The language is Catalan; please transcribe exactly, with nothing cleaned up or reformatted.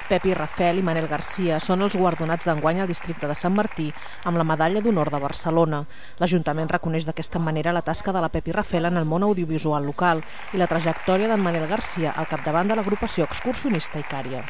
Pepi Rafel i Manel Garcia són els guardonats d'enguany al districte de Sant Martí amb la Medalla d'Honor de Barcelona. L'Ajuntament reconeix d'aquesta manera la tasca de la Pepi Rafel en el món audiovisual local i la trajectòria d'en Manel Garcia al capdavant de l'agrupació excursionista Icària.